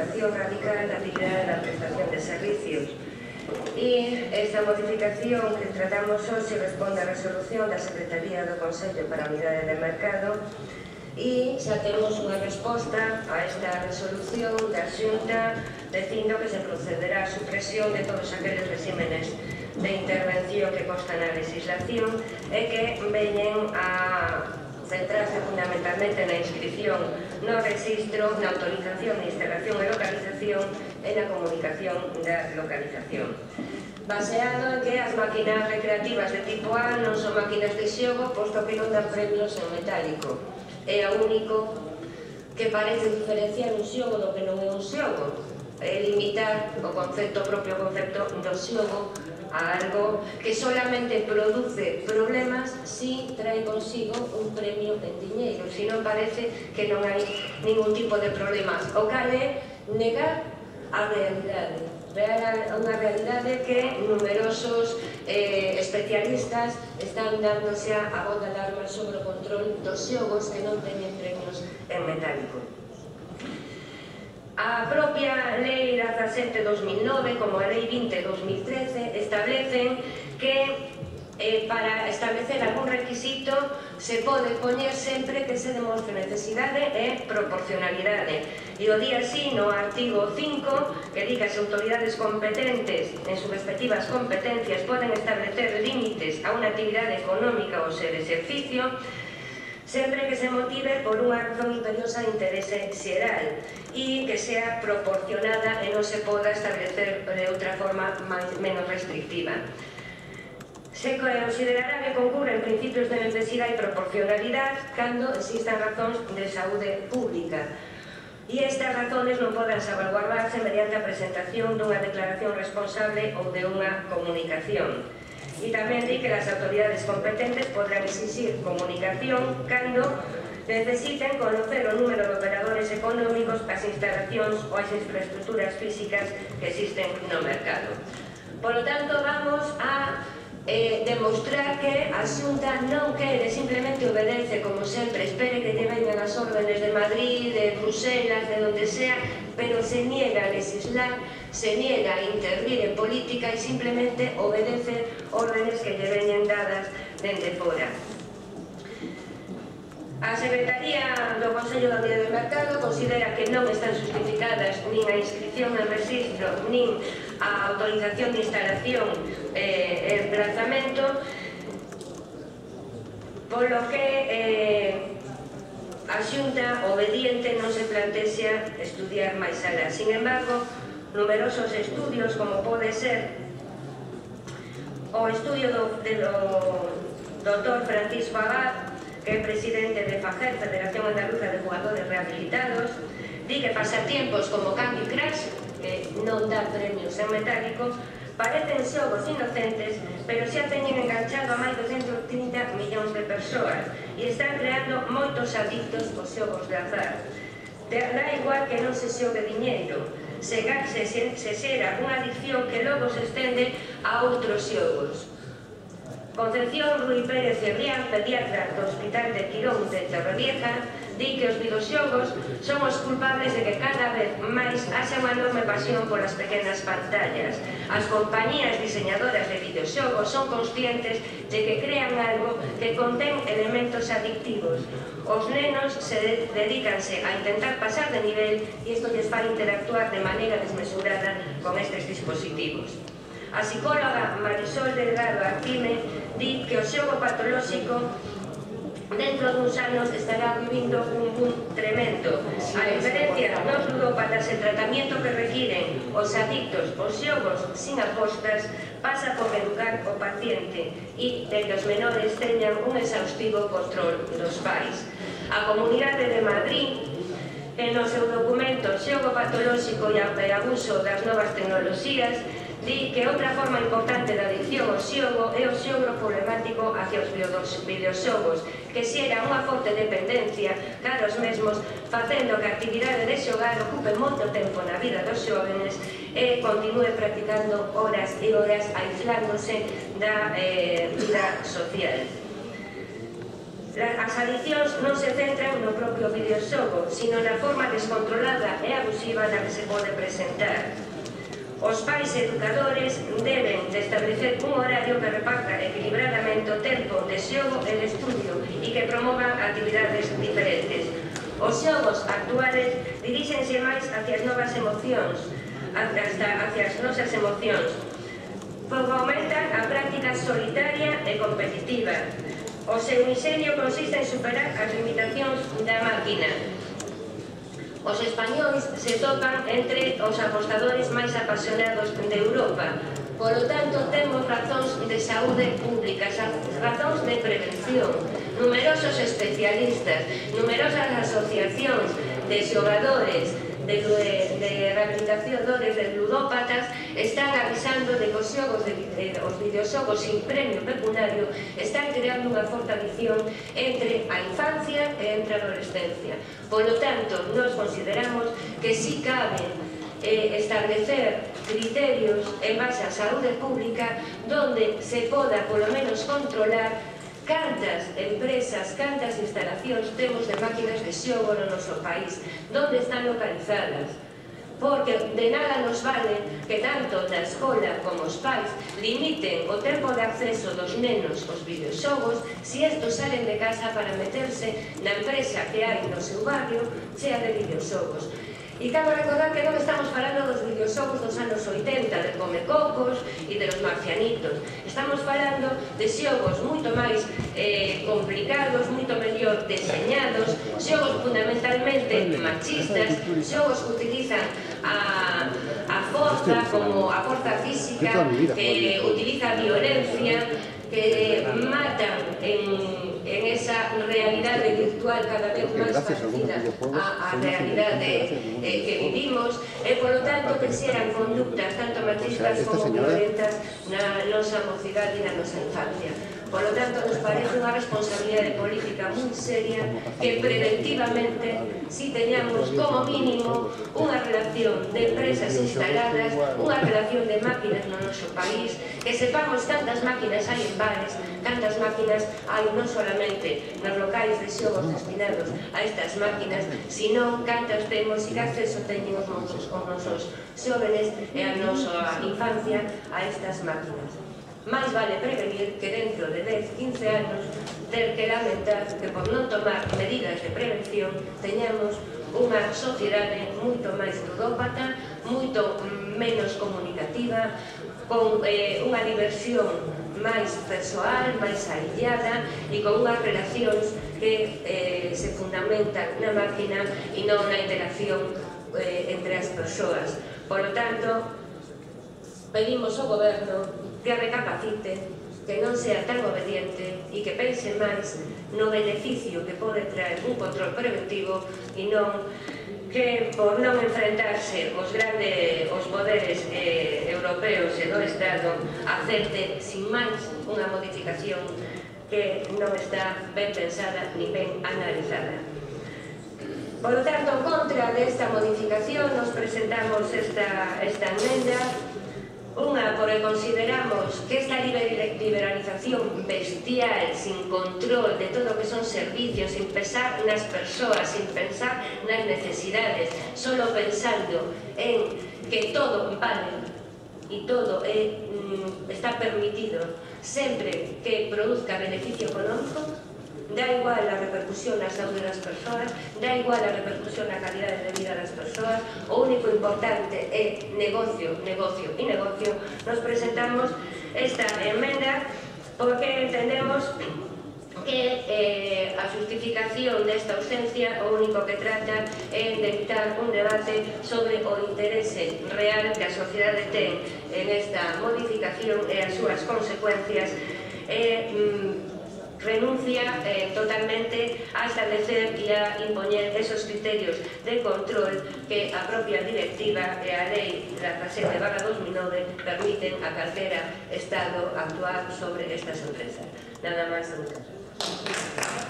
modificación radical na actividade da prestación de servicios. E esta modificación que tratamos hoxe responde á resolución da Secretaría do Consello para a Unidade de Mercado e xa temos unha resposta a esta resolución da Xunta dicindo que se procederá a supresión de todos aqueles regímenes de intervención que constan na legislación e que veñen a centrarse fundamentalmente na inscripción no registro, na autorización de instalación e localización e na comunicación da localización. Baseado en que as máquinas recreativas de tipo A non son máquinas de xogo, posto que non dan premios en metálico. É o único que parece diferenciar un xogo do que non é un xogo, é limitar o propio concepto do xogo a algo que solamente produce problemas si trae consigo un premio en diñeiro, si non parece que non hai ningún tipo de problemas, o cal é negar a realidade. Unha realidade que numerosos especialistas están dándose a voz de alarma sobre o control dos xogos que non teñen premios en metálico. A propia Lei 17/2009, como a Lei 20/2013, establecen que para establecer algún requisito se pode poñer sempre que se demostre necesidade e proporcionalidade. E o día así, no artigo 5, que di que as autoridades competentes en sus respectivas competencias poden establecer límites a unha actividade económica ou ser exercicio, sempre que se motive por unha razón imperiosa de interese xeral e que sea proporcionada e non se poda establecer de outra forma menos restrictiva. Se considerará que concurren principios de necesidade e proporcionalidade cando existan razóns de saúde pública. E estas razones non poden salvaguardarse mediante a presentación dunha declaración responsable ou de unha comunicación. E tamén di que as autoridades competentes podrán exigir comunicación cando necesiten conocer o número de operadores económicos, as instalacións ou as infraestructuras físicas que existen no mercado. Por lo tanto, vamos a demostrar que a Xunta non quere, simplemente obedece, como sempre, espere que lle veñan as órdenes de Madrid, de Bruselas, de donde sea, pero se niega a legislar, se niega a intervir en política e simplemente obedece órdenes que lle veñen dadas dende fora. A Secretaría do Consello da Unidade de Mercado considera que non están justificadas nin a inscripción en registro nin a autorización de instalación e emplazamento, polo que a Xunta obediente non se plantexa estudiar máis alá. Sin embargo, numerosos estudios, como pode ser o estudio do Dr. Francisco Abad, que é presidente de FAGER, Federación Andaluza de Jugadores Rehabilitados, di que pasatiempos como Candy Crush, que non dá premios en metálico, parecen xogos inocentes, pero xa teñen enganchado a máis de 130 millóns de persoas e están creando moitos adictos aos xogos de azar. Dá igual que non se xogue diñeiro, se xera unha adicción que logo se estende a outros xogos. Concepción Rui Pérez Cebrián, pediatra do Hospital de Quirón de Torrevieja, di que os videoxogos son os culpables de que cada vez máis haxa unha enorme pasión polas pequenas pantallas. As compañías diseñadoras de videoxogos son conscientes de que crean algo que contén elementos adictivos. Os nenos dedícanse a intentar pasar de nivel e isto lles fai interactuar de maneira desmesurada con estes dispositivos. A psicóloga Marisol Delgado Arquime di que o xogo patolóxico dentro duns anos estará vivindo un boom tremendo. A diferencia dos ludópatas, el tratamento que requiren os adictos aos xogos sin apostas pasa por educar o paciente e de que os menores teñan un exhaustivo control dos pais. A Comunidade de Madrid, en o seu documento Xogo patolóxico e abuso das novas tecnoloxías, di que outra forma importante da adicción ao xogo é o xogo problemático hacia os videoxogos, que xera unha forte dependencia cara aos mesmos, facendo que a actividade de xogar ocupe moito tempo na vida dos xóvenes e continúe practicando horas e horas aislándose da vida social. As adiccións non se centran no propio videoxogo, sino na forma descontrolada e abusiva na que se pode presentar. Os pais e educadores deben de establecer un horario que reparta equilibradamente o tempo de xogo e de estudio e que promovan actividades diferentes. Os xogos actuales diríxense máis hacia as novas emocións, hacia as nosas emocións, porque aumentan a práctica solitaria e competitiva. O seu ingenio consiste en superar as limitacións da máquina. Os españois se topan entre os apostadores máis apasionados de Europa. Polo tanto, temos razóns de saúde pública, razóns de prevención. Numerosos especialistas, numerosas asociacións de xogadores, de rehabilitacionadores, de ludópatas, están avisando de que os videoxogos sin premio pecuniario están creando unha forte adicción entre a infancia e entre a adolescencia. Polo tanto, nos consideramos que si cabe establecer criterios en base á saúde pública donde se poda polo menos controlar cantas empresas, cantas instalacións temos de máquinas de xogo no noso país, onde están localizadas. Porque de nada nos vale que tanto da escola como os pais limiten o tempo de acceso dos nenos aos videoxogos se estos salen de casa para meterse na empresa que hai no seu barrio chea de videoxogos. E cabe recordar que non estamos falando dos videoxogos dos anos 80, de Comecocos e de los marcianitos. Estamos falando de xogos moito máis complicados, moito mellor deseñados, xogos fundamentalmente machistas, xogos que utilizan a forza como a forza física, que utiliza a violencia, que matan en esa realidade virtual cada vez máis parecida á realidade que vivimos e, polo tanto, que xeran conductas tanto machistas como violentas na nosa mocidade e na nosa infancia. Por lo tanto, nos parece unha responsabilidade política moi seria que preventivamente si teñamos como mínimo unha relación de empresas instaladas, unha relación de máquinas no noso país, que sepamos cantas máquinas hai en bares, cantas máquinas hai non solamente nos locais de xogos destinados a estas máquinas, sino cantas temos e que acceso teñen os nosos xóvenes e a nosa infancia a estas máquinas. Mais vale prevenir que dentro de 10, 15 anos ter que lamentar que por non tomar medidas de prevención teñamos unha sociedade moito máis ludópata, moito menos comunicativa, con unha diversión máis persoal, máis aillada e con unhas relacións que se fundamentan na máquina e non na interacción entre as persoas. Por lo tanto, pedimos ao goberno que recapacite, que non sea tan obediente e que pense máis no beneficio que pode traer un control preventivo e non que por non enfrentarse os poderes europeos e do Estado acepte sin máis unha modificación que non está ben pensada ni ben analizada. Por lo tanto, en contra desta modificación nos presentamos esta enmenda. Unha, porque consideramos que esta liberalización bestial, sin control de todo o que son servicios, sin pensar nas persoas, sin pensar nas necesidades, solo pensando en que todo vale e todo está permitido sempre que produzca beneficio económico, da igual a repercusión na saúde das persoas, da igual a repercusión na calidade de vida das persoas, o único importante é negocio, negocio e negocio. Nos presentamos esta enmenda porque entendemos que a justificación desta ausencia o único que trata é de evitar un debate sobre o interese real que a sociedade ten en esta modificación e as súas consecuencias renuncia totalmente a establecer e a impoñer esos criterios de control que a propia directiva e a lei 17/2009 permiten a calquera Estado actuar sobre estas empresas. Nada máis, muchas gracias.